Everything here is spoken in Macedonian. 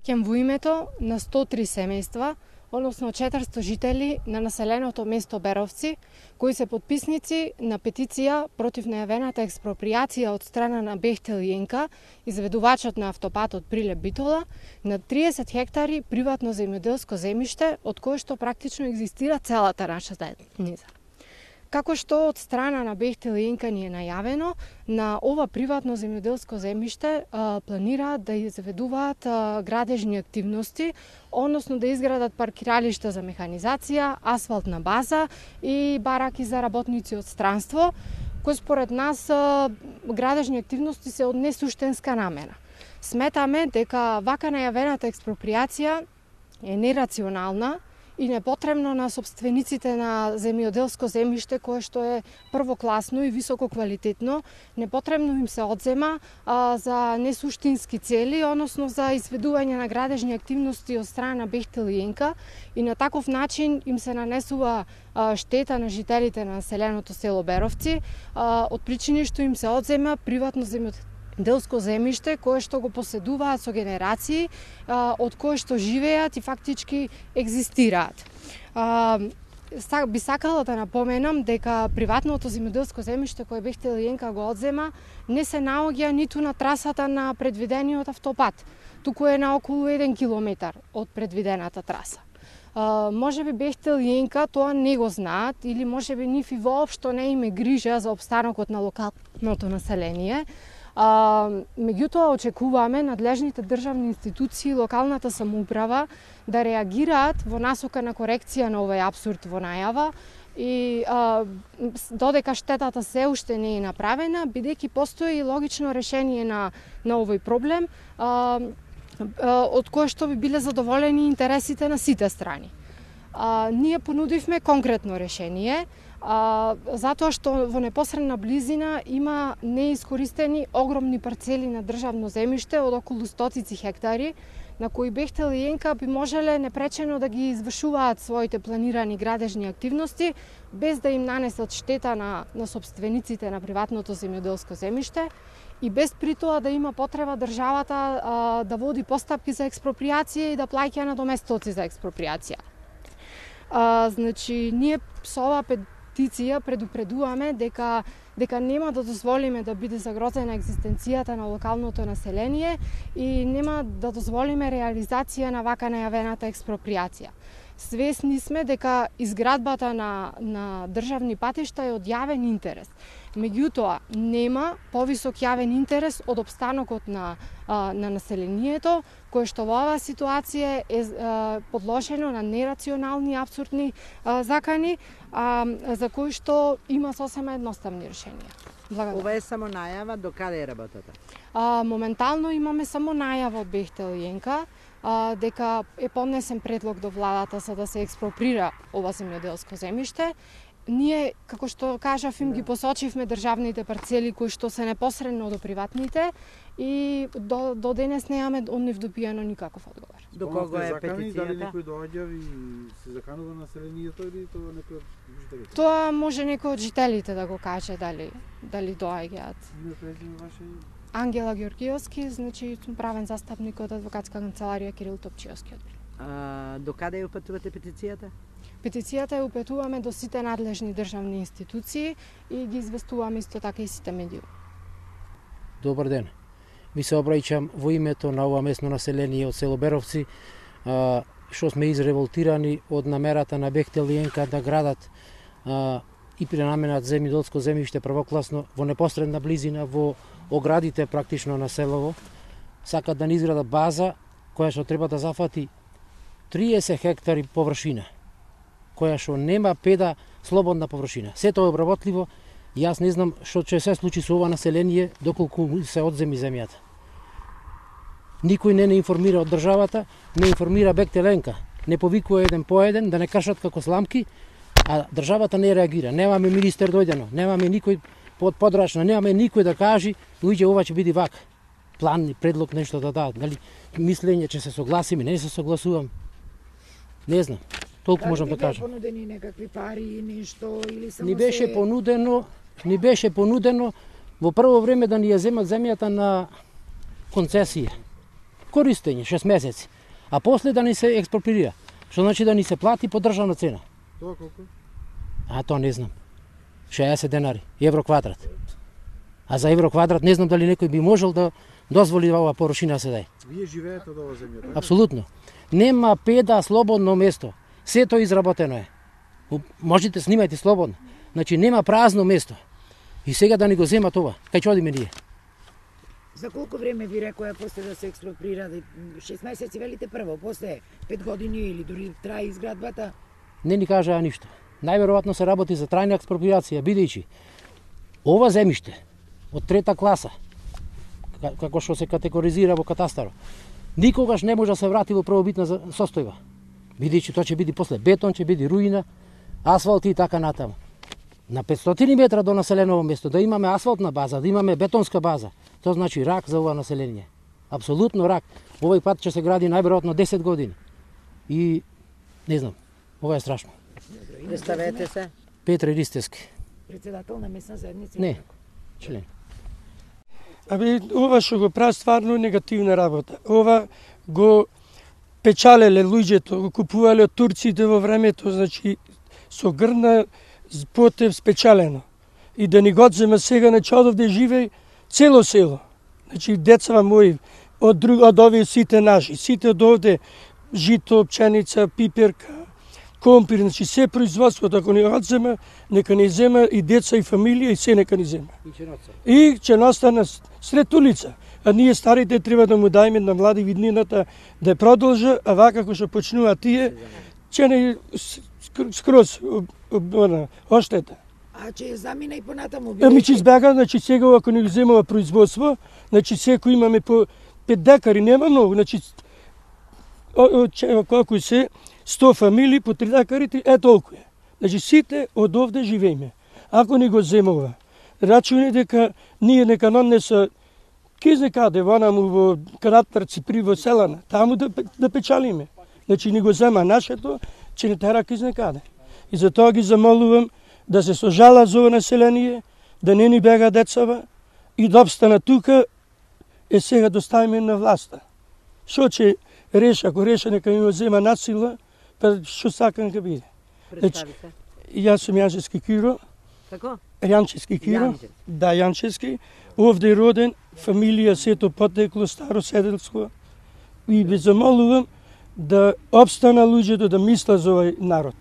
обраќам во името на 103 семејства, односно 400 жители на населеното место Беровци, кои се потписници на петиција против најавената експроприација од страна на Бехтел и ЕНКА, изведувачот на автопатот Прилеп-Битола, на 30 хектари приватно земјоделско земјиште, од кое што практично екзистира целата наша заедница. Како што од страна на Бехтел и ЕНКА ни е најавено, на ова приватно земјоделско земјиште планираат да изведуваат градежни активности, односно да изградат паркиралишта за механизација, асфалтна база и бараки за работници од странство, кои според нас градежни активности се од несуштенска намера. Сметаме дека вака најавената експроприација е нерационална и непотребно на собствениците на земјоделско земјиште кое што е првокласно и високо квалитетно, непотребно им се одзема за несуштински цели, односно за изведување на градежни активности од страна на Бехтел и ЕНКА, и на таков начин им се нанесува штета на жителите на населеното село Беровци, од причини што им се одзема приватно земјоделско земјиште кое што го поседуваат со генерации, од кое што живеат и фактички екзистираат. Би сакала да напоменам дека приватното земјоделско земјиште кое Бехтел и ЕНКА го одзема не се наоѓа ниту на трасата на предвидениот автопат, туку е на околу 1 километар од предвидената траса. Можеби Бехтел и ЕНКА тоа не го знаат или можеби нив и воопшто не им е грижа за опстанокот на локалното население. Меѓутоа очекуваме надлежните државни институции и локалната самоуправа да реагираат во насока на корекција на овој апсурд во најава и додека штетата се уште не е направена, бидејќи постои логично решение на овој проблем, од кое што би биле задоволени интересите на сите страни. Ние понудивме конкретно решение, затоа што во непосредна близина има неискористени огромни парцели на државно земјиште од околу стотици хектари, на кои Бехтел и ЕНКА би можеле непречено да ги извршуваат своите планирани градежни активности, без да им нанесат штета на собствениците на приватното земјоделско земјиште и без при тоа да има потреба државата да води постапки за експроприација и да плаќа надоместоци за експроприација. Значи, ние со ова петиција предупредуваме дека нема да дозволиме да биде загрозена екзистенцијата на локалното население и нема да дозволиме реализација на вака најавената експроприација. Свесни сме дека изградбата на државни патишта е од јавен интерес. Меѓутоа, нема повисок јавен интерес од опстанокот на населението, кое што во оваа ситуација е подложено на нерационални, апсурдни закани, за кои што има сосема едноставни решенија. Благодарам. Ова е само најава, до каде е работата? Моментално имаме само најава од Бехтел и ЕНКА, дека е поднесен предлог до владата за да се експроприра ова земјоделско земјиште. Ние, како што кажав, им ги посочивме државните парцели кои што се непосредно до приватните и до денес немаме од нив добиено никаков одговор. До кого е петицијата? Дали некој доаѓа и се заканува населението или тоа некој од жителите? Тоа може некој од жителите да го каже дали доаѓаат. Име, презиме ваше? Ангела Георгиевски, значи правен застапник од адвокатска канцеларија Кирил Топчиевски. До каде ја упатувате петицијата? Петицијата ја упатуваме до сите надлежни државни институции и ги известуваме исто така и сите медиуми. Добар ден. Ви се обраќам во името на ова местно население од село Беровци, што сме изреволтирани од намерата на Бехтел и ЕНКА да градат и пренаменат земјоделско земјиште првокласно во непосредна близина во оградите практично на селово. Сакат да ни изградат база која што треба да зафати 30 хектари површина, која што нема педа слободна површина. Сето е обработливо и јас не знам што ќе се случи со ова население доколку се одземи земјата. Никој не информира од државата, не информира Бехтел и ЕНКА, не повикува еден по еден да не кашат како сламки, а државата не реагира. Немаме министер дојдено, немаме никој подрачна, немаме никој да каже, уиѓе ова ќе биде вака. План, предлог, нешто да дадат. Дали мислење че се согласиме, не се согласувам. Не знам. Толку можам да кажам. Дали понудени некакви пари, нешто или само Ни беше понудено во прво време да ни ја земат земјата на концесија. Користење 6 месеци. а после да ни се експроприира. Што значи да ни се плати по државна цена. Тоа колку? А тоа не знам. 60 денари, евро квадрат. А за евро квадрат не знам дали некој би можел да дозволи ова порушина да се даде. Вие живеете од ова земја, така? Апсолутно. Нема педа слободно место. Сето изработено е. Можете снимајте слободно. Значи нема празно место. И сега да ни го земат ова. Кај ќе одиме ние? За колку време ви рекоја после да се експроприира? 6 месеци велите прво, после 5 години или дури трае изградбата? Не ни кажаа ништо. Најверојатно се работи за трајна експроприација, бидејќи ова земјиште од трета класа, како што се категоризира во катастарот, никогаш не може да се врати во првобитна состојба. Бидејќи тоа ќе биде после бетон, ќе биде руина, асфалт и така натаму. На 500 метра до населеното место да имаме асфалтна база, да имаме бетонска база, тоа значи рак за ова население. Апсолутно рак. Овој пат ќе се гради најверојатно 10 години. И не знам, ова е страшно. Представете се. Петре Ристевски. Председател на месна заедница? Не, член. Ова што го прави стварно негативна работа. Ова го печалеле луѓето, го купувале од турците во времето, значи со грна потев спечалено. И да ни го одзема сега, значи одовде живеј цело село. Значи децава мои од овие сите наши, сите од овде жито, пченица, пиперка, компир, значи се производството ако ни одзема, нека ни зема и деца и фамилија и се нека ни зема. И ќе настане сред улица. А ние старите треба да му дајме на млади виднината да продолжа, а вака како што почнува тие, ќе не скроз оштета. А ќе замина и понатаму? Ами ќе избега, значи сега ако ни земува производство, значи секој имаме по 5 декари, нема многу, значи колку се 100 фамилии по 3 декари, толку е. Значи сите од овде живееме. Ако ни го земува, рачуни дека ние нека нанеса кизне каде, вонаму во Каратарци, при во Селана, таму да печалиме. Значи ни го зема нашето, че не тера кизне каде. И затоа ги замолувам да се сожала за ова население, да не ни бега децава и да обстана тука, е сега доставиме на власта. Шо ќе реша, ако реша нека ми го зема насила, па што сакам ка биде. Представи се. Јас сум Јанчевски Киро. Како? Јанчевски Киро. Јанчевски. Да, Јанчевски. Овде роден, фамилија сето потекло, старо седелство. И ви замолувам да обстана луѓето да мислат за овој народ.